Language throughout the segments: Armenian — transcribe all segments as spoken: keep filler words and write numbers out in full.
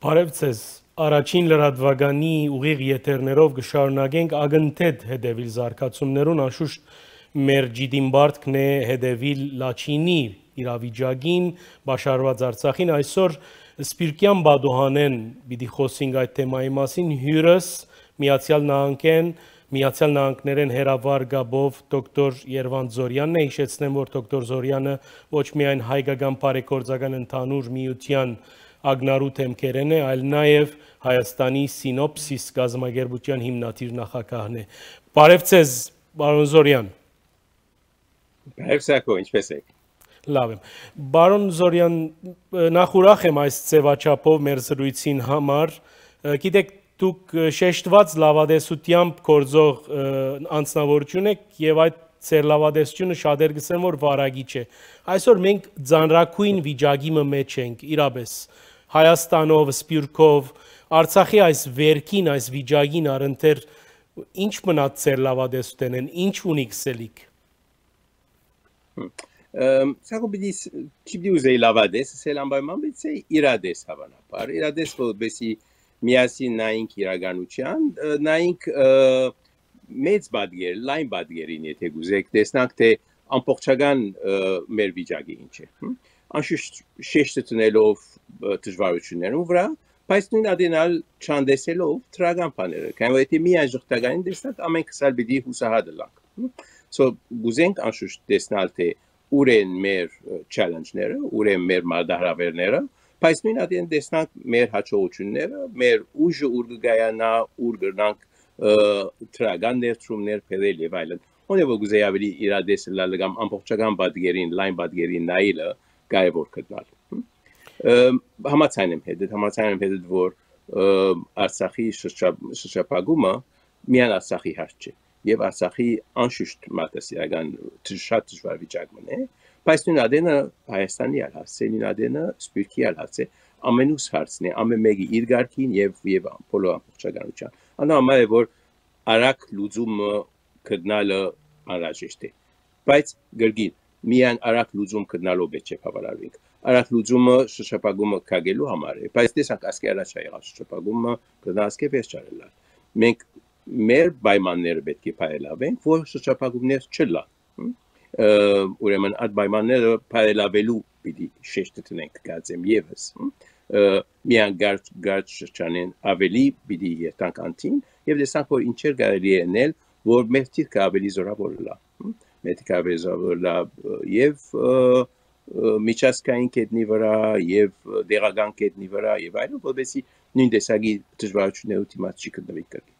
Բարև ձեզ, առաջին լրատվականի ուղիղ եթերներով կշարունակենք ագնթեթ հետևիլ զարգացումներուն, անշուշտ մեր ջիդին բարդքն է հետևիլ Լաչինի իրավիճակին, բաշարված Արցախին, այսօր Սպիրկյան Բադուհանեն պիտի խոսենք այդ թեմայի մասին, հյուրս Միացյալ Նահանգեն, Միացյալ Նահանգներեն հերավար գաբով դոկտոր Երվանդ Զորյանն է, հիշեցնեմ, որ դոկտոր Զորյանը ոչ միայն հայկական բարեգործական ընդհանուր միության ագնարու թեմքերեն է, այլ նաև Հայաստանի Սինոպսիս գազամագերբության հիմնադիր նախագահն է։ Բարև ձեզ, բարոն Զորյան։ Բարև Սակո, ինչպես եք։ Լավ եմ։ Բարոն Զորյան, նախ ուրախ եմ այս ձևաչափով մեր զրույցին համար։ Գիտեք, դուք շեշտված լավադեսությամբ գործող անձնավորություն եք եւ այդ ձեր լավադեսությունը շատեր գսեն, որ վարագիչ է։ Այսօր մենք ձանրակույն վիճակի մեջ ենք, իրապես Հայաստանով, Սպիրկով, Արցախի այս վերքին, այս վիճակին առընթեր ինչ մնաց ձեր լավադեսութենեն, ինչ ունիք սելիք։ Սակո պիտի չպիտի ուզեի լավադես, սել անպայման պիտի իրադես հավանաբար, իրադես որպեսի միասին նայինք իրականության, նայինք մեծ բադգեր, լայն բադգերին, եթե գուզեք, տեսնանք, թե ամբողջական մեր վիճակի ինչ է։ Անշուշտ շեշտը տնելով դժվարություններուն վրա, բայց նույն ադենալ չանդեսելով դրական բաները, քանի որ եթե միայն ժողտականին տեսնանք, ամենք սալ պիտի հուսահատ լանք։ So գուզենք անշուշտ տեսնալ, թե ուր են մեր challenge-ները, ուր են մեր մարտահրավերները, բայց նույն ադեն տեսնանք մեր հաջողությունները, մեր ուժը ուր կգայանա, ուր կգնանք դրական ներդրումներ փերել եւ այլն։ Ոնց որ գուզեի ավելի իրադեսը լալ կամ ամբողջական բադգերին, լայն բադգերին նայելը կարևոր գտնալ։ Համաձայն եմ հետ, համաձայն եմ հետ, որ Արցախի շրջափակումը միայն Արցախի հարց չէ եւ Արցախի անշուշտ մարտահրավերական շատ դժվար վիճակն է, բայց նույն ադենը Հայաստանի հարց է, նույն ադենը Սպիրկի հարց է, ամենուս հարցն է, ամեն մեկի իր ղարքին եւ եւ բոլոր ամբողջականության։ Անհամար է, որ արագ լուծումը գտնալը անհրաժեշտ է, բայց գրգին միայն արագ լուծում գտնալով է չէ բավարարվենք։ Արագ լուծումը շրջափակումը կագելու համար է, բայց տեսանք ասկե առաջ եղած շրջափակումը կդասկե պես չարելա։ Մենք մեր պայմանները պետք է փայլավենք, որ շրջափակումներ չլա։ Ուրեմն այդ պայմանները փայլավելու պիտի շեշտը տնենք գացեմ եւս։ Միան գարդ գարդ շրջանեն ավելի պիտի երթանք անտին եւ տեսանք, որ ինչեր կարելի է անել, որ մեր թիրքը ավելի զորավոր լա։ Մեր թիրքը ավելի զորավոր լա եւ միջազգային կետնի վրա եւ դեղական կետնի վրա եւ այլն, որովհետեւ նույն տեսակի դժվարությունները դիմաց չի գտնվի կրկին։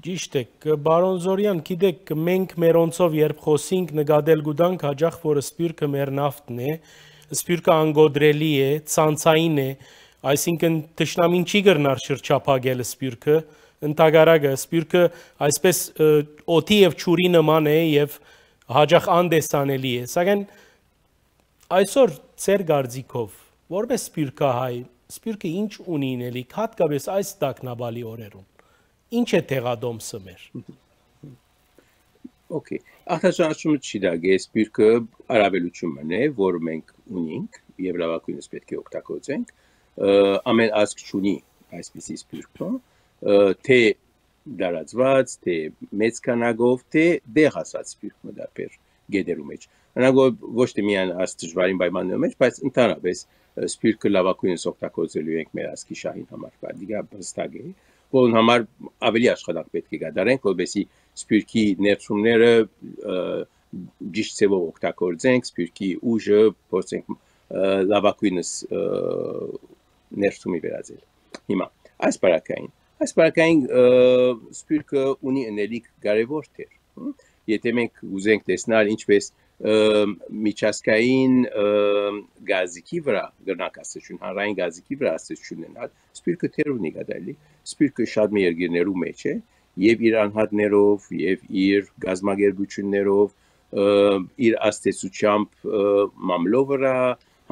Ճիշտ է, բարոն Զորյան, գիտեք, մենք մերոնցով երբ խոսենք նկատել գուտանք հաջող, որ Սպիրկը մեր նավթն է, Սպիրկը անգոդրելի է, ցանցային է, այսինքն թշնամին չի գրնար շրջափակել Սպիրկը, ընդհանրակը Սպիրկը այսպես օդի եւ ճուրի նման է եւ հաջող անդեսանելի է, սակայն այսօր ծեր գարձիկով, որպես Սպիրկահայ, Սպիրկը ինչ ունի ինելիք, հատկապես այս տագնապալի օրերում։ Ինչ է տեղադոմսը մեր։ Okay, արտաշնչումը չի դագե Սպիրկը արավելությունն է, որ մենք ունենք եւ լավագույնս պետք է օգտագործենք։ Ամեն ազգ ունի այսպիսի Սպիրկը, թե դարածված, թե մեծ քանակով, թե դեղացած Սպիրկը դեպեր գեդերու մեջ։ Անագով ոչ թե միայն այս դժվարին պայմանների մեջ, բայց ընդհանրապես Սպիրկը լավագույնս օգտագործելու ենք մեր ազգի շահին համար։ Դիգա բստակ է, որն համար ավելի աշխատանք պետք է կատարենք, որովհետեւ Սպիրկի ներդրումները ճիշտ ձևով օգտագործենք, Սպիրկի ուժը փորձենք լավագույնս ներդրումի վերածել։ Հիմա այս բարակային, այս բարակային Սպիրկը ունի անելիք կարևոր դեր։ Եթե մենք ուզենք տեսնել ինչպես միջազգային գազիկի վրա գրնակ ասեցություն, հանրային գազիկի վրա ասեցություն ունենալ, Սպիրկը թեր ունի գտալի, Սպիրկը շատ մի երկրներու մեջ է, եւ իր անհատներով, եւ իր գազամագերբություններով, իր աստեցությամբ մամլո վրա,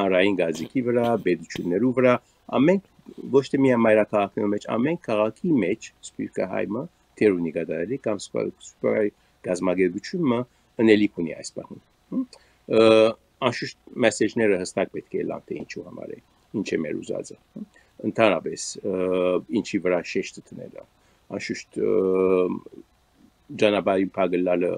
հանրային գազիկի վրա, բեդություններու վրա, ամեն ոչ թե միայն մայրաքաղաքներու մեջ, ամեն քաղաքի մեջ Սպիրկը հայմը թեր ունի գտալի կամ սպիրկի գազամագերբությունը անելիք ունի այս բանում։ Անշուշտ մեսեջները հստակ պետք է լան թե ինչու համար է, ինչ է մեր ուզածը։ ընդհանրապես ինչի վրա շեշտը դնելը անշուշտ ճանապարհի փակելը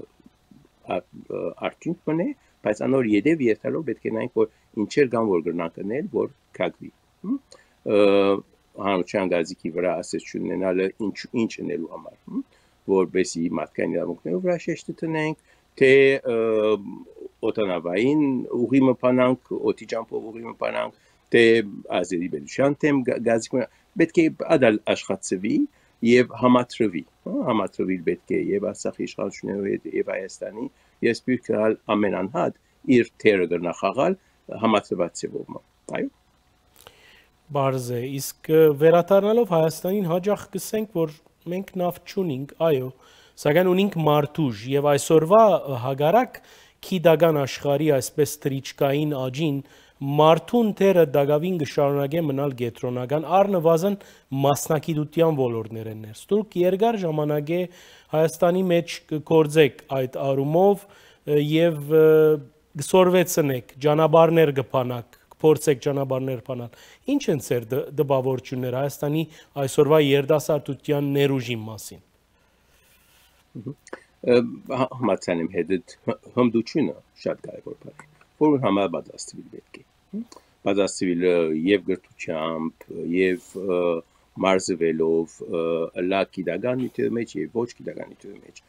արդյունք մնե բայց անոր յետև երթալով պետք է նայենք որ ինչեր կան որ գրնանք անել որ կագվի հանրության գազիկի վրա ասեցություն ունենալը ինչ ինչ անելու համար որբեսի մարդկային իրավունքներով վրա շեշտը դնենք թե օտանավային ուղի մփանանք օդի ճամփով ուղի մփանանք թե ազերի բելության թեմ գազիկ պետք է ադալ աշխատվի եւ համատրվի համատրվի պետք է եւ Արցախի իշխանությունների հետ եւ Հայաստանի ես պիտի ամեն անհատ իր թերը գնահատալ համատրված ձևով այո Բարզ է իսկ վերադառնալով Հայաստանին հաջող կսենք որ մենք նավ չունենք այո սակայն ունենք մարտուժ եւ այսօրվա հագարակ քիդագան աշխարհի այսպես տրիչկային աջին Մարդուն թերը դագավին կշարունակե մնալ գետրոնական առնվազն մասնակիտության ոլորտներ են ներս։ Դուք երկար ժամանակ է Հայաստանի մեջ կգործեք այդ առումով եւ գսորվեցնեք, ճանապարհներ կփանաք, փորձեք ճանապարհներ փանալ։ Ինչ են ծեր դպավորությունները Հայաստանի այսօրվա երիտասարդության ներուժի մասին։ Համացանեմ հետ հմդությունը շատ կարևոր բան է։ Որ համար պատասխանել պետք է։ Պատասխանելը եւ գրթությամբ եւ մարզվելով լա գիտականության մեջ եւ ոչ գիտականության մեջ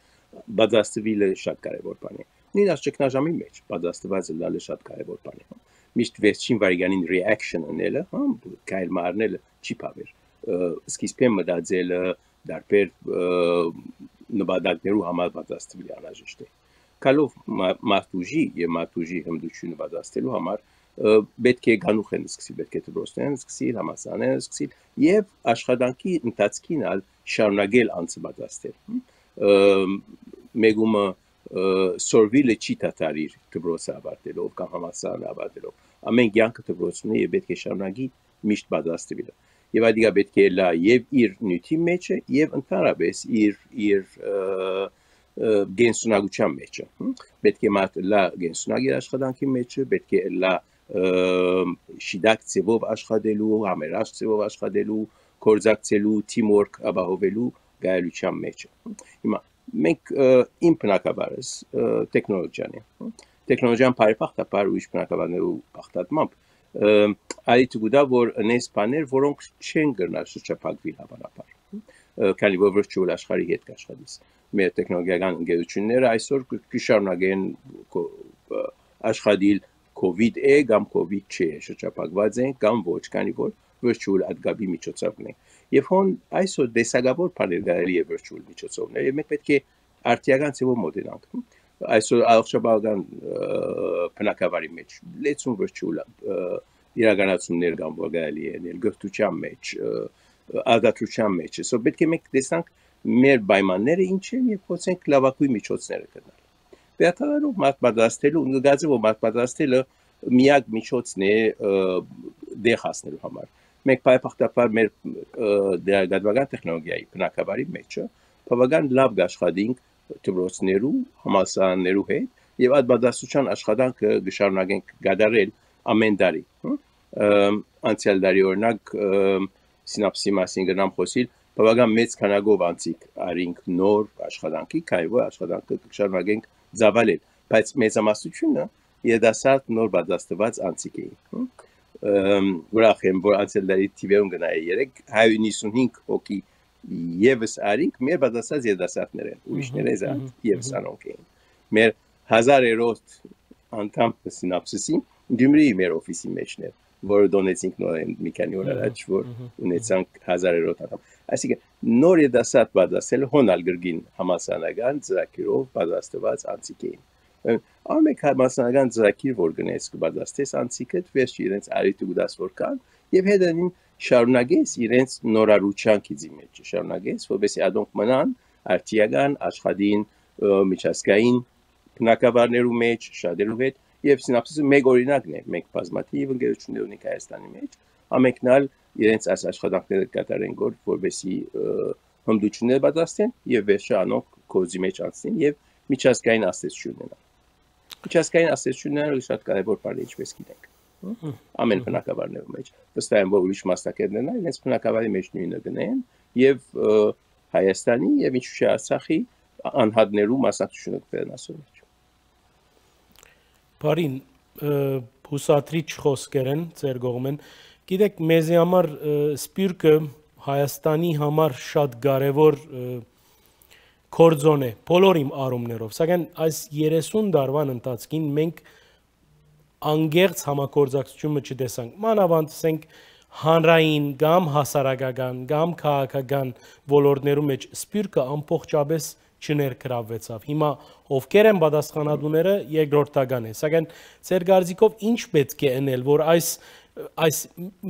պատասխանելը շատ կարևոր բան է։ Նույնիսկ ճգնաժամի մեջ պատասխանվածը լալը շատ կարևոր բան է։ Միշտ վերջին վարիանին reaction անելը, հա, կայլ մարնելը չի բավեր։ Սկիզբը մտածելը դարբեր նպատակներու համար պատասխանելի անհրաժեշտ է։ Կալով մարտուժի եւ մարտուժի հմդությունը պատասխանելու համար պետք է գանուխեն սկսի, պետք է դրոստեն սկսի, համասանեն սկսի եւ աշխատանքի ընթացքին ալ շարունակել անձը պատասխանել։ Մեգումը սորվիլը չի դատարիր դրոստը ավարտելով կամ համասանը ավարտելով։ Ամեն կյանքը դրոստն է եւ պետք է շարունակի միշտ պատասխանել։ Եվ այդիկա պետք է լա եւ իր նյութի մեջ եւ ընդհանրապես իր իր գենսունակության մեջ պետք է մարդ լա գենսունակ իր աշխատանքի մեջ պետք է լա շիդակ ձևով աշխատելու համերաշխ ձևով աշխատելու կորզակցելու teamwork ապահովելու գայելության մեջ հիմա մենք իմ բնակավարս տեխնոլոգիան է տեխնոլոգիան բարեփոխտաբար ուրիշ բնակավարներու բախտատմամբ այդ գուտա որ նես բաներ որոնք չեն գնա շրջափակվել հավանաբար քանի որ virtual աշխարհի հետ կաշխատես մեր տեխնոլոգիական ընկերությունները այսօր կշարունակեն աշխատել COVID է կամ COVID չէ շրջափակված են կամ ոչ քանի որ virtual ադգաբի միջոցով ունենք եւ հոն այսօր դեսագավոր բաներ գալի է virtual միջոցովներ եւ մենք պետք է արտիական ծավալ մոդելանք այսօր առողջապահական բնակավարի մեջ լեցուն virtual իրականացումներ կան որ գալի են գրթության մեջ ադատության մեջ so պետք է մենք տեսանք մեր պայմանները ինչ են եւ փորձենք լավագույն միջոցները գտնել Վերթարելով մարդ պատրաստելու գազը որ մարդ պատրաստելը միակ միջոցն է դեղ հասնելու համար մենք բարեփոխտաբար մեր դերակատարական տեխնոլոգիայի բնակավարի մեջ բավական լավ աշխատենք դպրոցներու համալսարաններու հետ եւ այդ պատասխանատվության աշխատանքը գշարունակենք գդարել ամեն տարի անցյալ տարի օրինակ սինապսի մասին գնամ խոսիլ բավական մեծ քանակով անցիկ արինք նոր աշխատանքի քանի որ աշխատանքը գշարունակենք զավալել բայց մեծամասնությունը երդասարդ նոր պատրաստված անցիկ էին ուրախ եմ որ անցյալ տարի տիվերուն գնայի երեք հարյուր նիսունհինգ հոգի եւս արինք մեր պատրաստած երդասարդներ են ուրիշները զան եւս անոնք էին մեր հազարերորդ անդամ սինապսիսի դյումրի մեր օֆիսի մեջն էր որը դոնեցինք նոր մի քանի օր առաջ որ ունեցանք հազարերորդ անդամ այսինքն նոր երդասարդ պատրաստել հոնալ գրգին համասանական ծրագրով պատրաստված անցիկ էին ամեն համասանական ծրագիր որ գնես կպատրաստես անցիկը վերջ իրենց արիթ ու դաս որ կան եւ հետանին շարունակես իրենց նորարության քիզի մեջ շարունակես որովհետեւ ադոնք մնան արտիական աշխատին միջազգային բնակավարներու մեջ շատերու հետ եւ սինապսիսը մեկ օրինակն է մենք բազմաթիվ ընկերություններ ունենք Հայաստանի մեջ ամենքնալ իրենց այս աշխատանքները կատարեն գոր որովհետեւ հմդություններ պատրաստեն եւ վերջը անոնք կոզի մեջ անցնեն եւ միջազգային ասացություն ունենան միջազգային ասացությունները շատ կարեւոր բան է ինչպես գիտենք ամեն բնակավարներում մեջ վստահ եմ որ ուրիշ մասնակիցներն են իրենց բնակավարի մեջ նույնը գնեն եւ Հայաստանի եւ ինչու՞ չէ Արցախի անհատներու մասնակցությունը կբերեն ասոր մեջ Բարին հուսատրիչ խոսքեր են ձեր կողմեն գիտեք մեզի համար սպյուրքը Հայաստանի համար շատ կարևոր կորձոն է բոլոր իմ առումներով սակայն այս երեսուն տարվան ընթացքին մենք անգերց համագործակցությունը չտեսանք մանավանդ ասենք հանրային կամ հասարակական կամ քաղաքական ոլորտներում մեջ սպյուրքը ամբողջապես չներգրավվեցավ հիմա ովքեր են պատասխանատուները երկրորդական է սակայն ձեր կարծիքով ինչ պետք է անել որ այս այս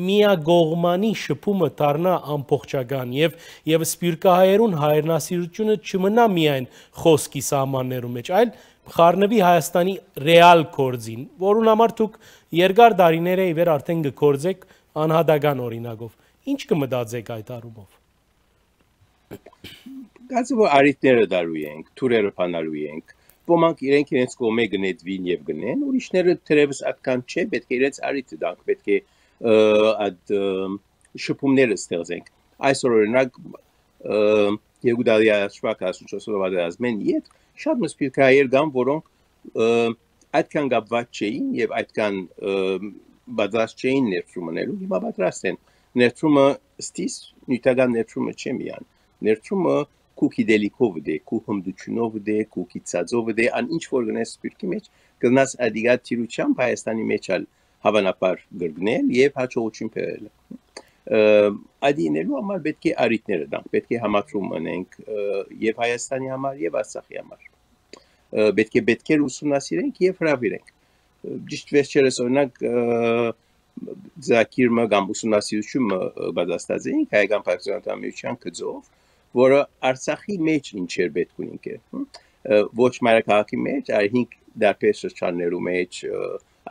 միագողմանի շփումը դառնա ամբողջական եւ եւ սպյուրքահայերուն հայրենասիրությունը չմնա միայն խոսքի սահմաններում մեջ այլ խառնվի Հայաստանի ռեալ կորձին, որուն համար դուք երկար տարիներ է իվեր արդեն գործեք անհատական օրինակով։ Ինչ կմտածեք այդ առումով։ Գուցե որ արիտները դարու ենք, թուրերը փանալու ենք, ոմանք իրենք իրենց կողմե գնեցվին եւ գնեն, ուրիշները թերևս այդքան չէ, պետք է իրենց արիտը դանք, պետք է այդ շփումները ստեղծենք։ Այսօր օրինակ Եգուդալի աշխարհ ասում իդ շատ մսպիրկայեր կան, որոնք այդքան կապված չէին եւ այդքան բادرած չէին ներդրումներու, հիմա պատրաստ են։ Ներդրումը ստիս նյութական ներդրումը չէ միան։ Ներդրումը քու գիտելիքով դե, քու հմտությունով դե, քու գիտածով դե, ան ինչ որ գնաս սպիրկի մեջ, գնաս ադիգա թիրուչամ Հայաստանի մեջ ալ հավանաբար գրգնել եւ հաջողություն բերել։ Ադինելու համար պետք է արիտները դանք, պետք է համատրում անենք եւ Հայաստանի համար եւ Արցախի համար։ Պետք է պետքեր ուսումնասիրենք եւ հրավիրենք։ Ճիշտ վերջերս օրինակ Զակիրը կամ ուսումնասիրությունը բادرած էինք հայկական պարտիզանական միության գծով, որը Արցախի մեջ ինչեր պետք ունենք է։ Ոչ մայրաքաղաքի մեջ, այլ հինգ դարբեր շրջաններու մեջ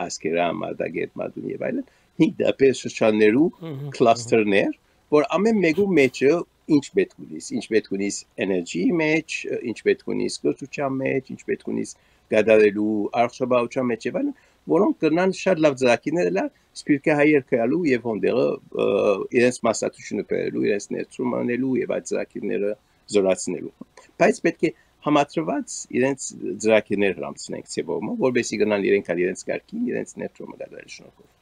ասկերամ, ադագետ, մադուն եւ այլն, հինգ դարբեր շրջաններու կլաստերներ, որ ամեն մեկու մեջը ինչ պետք ունիս, ինչ պետք ունիս էներգիի մեջ, ինչ պետք ունիս գործության մեջ, ինչ պետք ունիս գադարելու արխիվաբանության մեջ եւ այլն, որոնք կնան շատ լավ ծրագիրներ լա սպիրկահայեր կալու եւ հոնդերը իրենց մասնակցությունը բերելու, իրենց ներդրում անելու եւ այդ ծրագիրները զորացնելու։ Բայց պետք է համատրված իրենց ծրագիրներ հրամցնենք ցեվոմը, որովհետեւ գնան իրենք ալ իրենց կարգին, իրենց ներդրումը գադարելու շնորհիվ։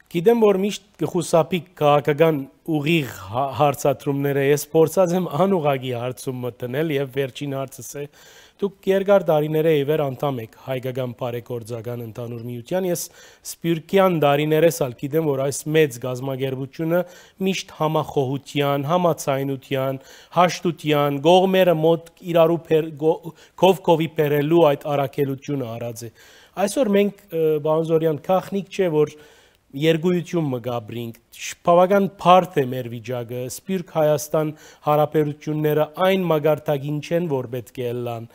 Գիտեմ որ միշտ կխուսափի քաղաքական ուղիղ հարցադրումները ես փորձած եմ անուղագի հարցում մտնել եւ վերջին հարցս է դուք երկար տարիներ է իվեր անդամ եք հայկական բարեգործական ընդհանուր միության ես սպյուրքյան տարիներս ալ գիտեմ որ այս մեծ գազագերբությունը միշտ համախոհության համացայնության հաշտության գողմերը մոտ իրարու կովկովի բերելու այդ արակելությունը արած է այսօր մենք բանզորյան քախնիկ չէ որ Երգույություն մգաբրինք, բավական բարդ է մեր վիճակը, Սպիրկ Հայաստան հարաբերությունները այն մագարտագին չեն, որ պետք է լան,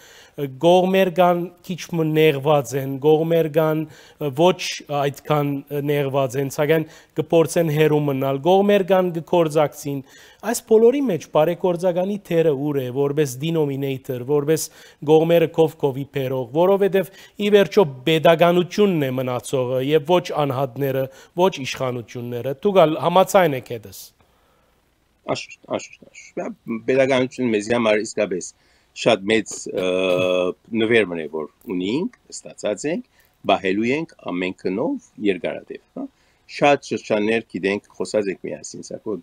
գողմեր կան քիչ նեղված են, գողմեր կան ոչ այդքան նեղված են, սակայն կփորձեն հերու մնալ, գողմեր կան կգործակցին, այս բոլորի մեջ բարեգործականի թերը ուր է, որպես denominator, որպես գողմերը կովկովի բերող, որովհետև ի վերջո pedagoganությունն է մնացողը եւ ոչ անհատները ոչ իշխանությունները դուք համաձայն եք հետս Աշուշտ, աշուշտ, աշուշտ pedagoganությունը մեզ համար իսկապես շատ մեծ նվերմն է որ ունենք, ստացած ենք, բահելու ենք ամեն քնով երկարատև, հա շատ շրջաններ գիտենք խոսած ենք միասին, սակայն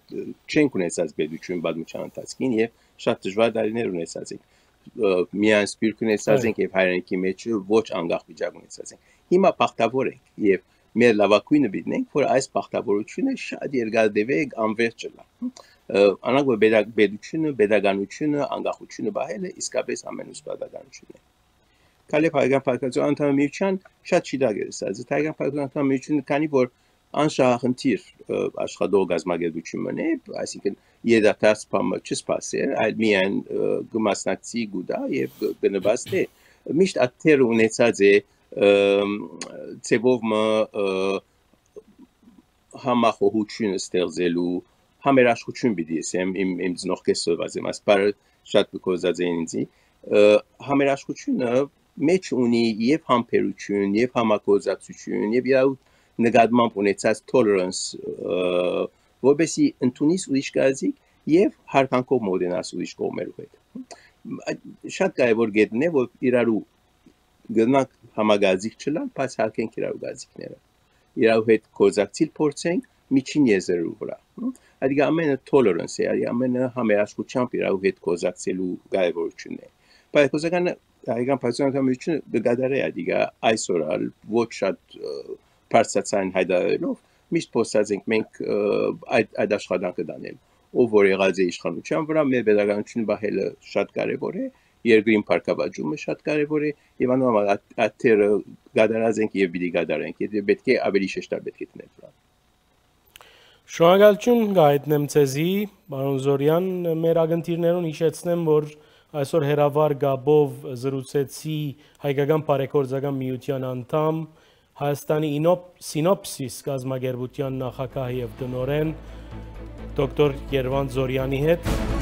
չենք ունեցած պետություն պատմության ընթացքին եւ շատ դժվար տարիներ ունեցած ենք միայն սպիրկ ունեցած ենք եւ հայրենիքի մեջ ոչ անգախ վիճակ ունեցած ենք հիմա բախտավոր ենք եւ մեր լավակույնը բիդնենք որ այս բախտավորությունը շատ երկարատև է անվերջ չլա անանք որ պետությունը pedagoganությունը անգախությունը բահելը իսկապես ամենուց պատահականությունն է Քալեփ հայկական պարտիզանական անդամ միության շատ շիդագերսած հայկական պարտիզանական միությունը քանի որ անշահախնդիր աշխատող գազագերբությունն է, այսինքն երդասարդ բամը չսպասեր, այլ միայն գմասնակցի գուտա եւ գնված է։ Միշտ աթեր ունեցած է ծեվովը համախոհություն ստեղծելու համերաշխություն պիտի ասեմ իմ իմ ծնողքեսով ասեմ, ասպարը շատ կոզած են ինձ համերաշխությունը մեջ ունի եւ համբերություն, եւ համագործակցություն, եւ իր նկատմամբ ունեցած tolerance, որովհետեւ ընդունիս ուրիշ գազիկ եւ հարգանքով մոտենաս ուրիշ կողմերու հետ։ Շատ կարևոր գետն է, որ իրարու գնանք համագազիկ չլան, բայց հարգենք իրարու գազիկները։ Իրարու հետ գործակցիլ փորձենք միջին եզերու վրա։ Այդ ամենը tolerance է, այդ ամենը համերաշխությամբ իրարու հետ գործակցելու կարևորությունն է։ Բայց խոսականը հայկական պաշտոնականությունը գադարե ադիգա այսօր ալ ոչ շատ բարձրացան հայտարարելով միշտ փոստած ենք մենք այդ այդ աշխատանքը դանել ով որ եղած է իշխանության վրա մեր վերագանությունը բահելը շատ կարևոր է երկրին փառքաբաճումը շատ կարևոր է եւ անոնց աթերը գադարած ենք եւ պիտի գադարենք եւ պետք է ավելի շեշտար պետք է դնել դրան։ Շնորհակալություն գայտնեմ ցեզի պարոն Զորյան մեր ագնտիրներուն հիշեցնեմ որ այսօր հերավար գաբով զրուցեցի հայկական բարեգործական միության անդամ Հայաստանի Սինոպսիս գազագերբության նախագահ եւ տնօրեն դոկտոր Երվանդ Զորյանի հետ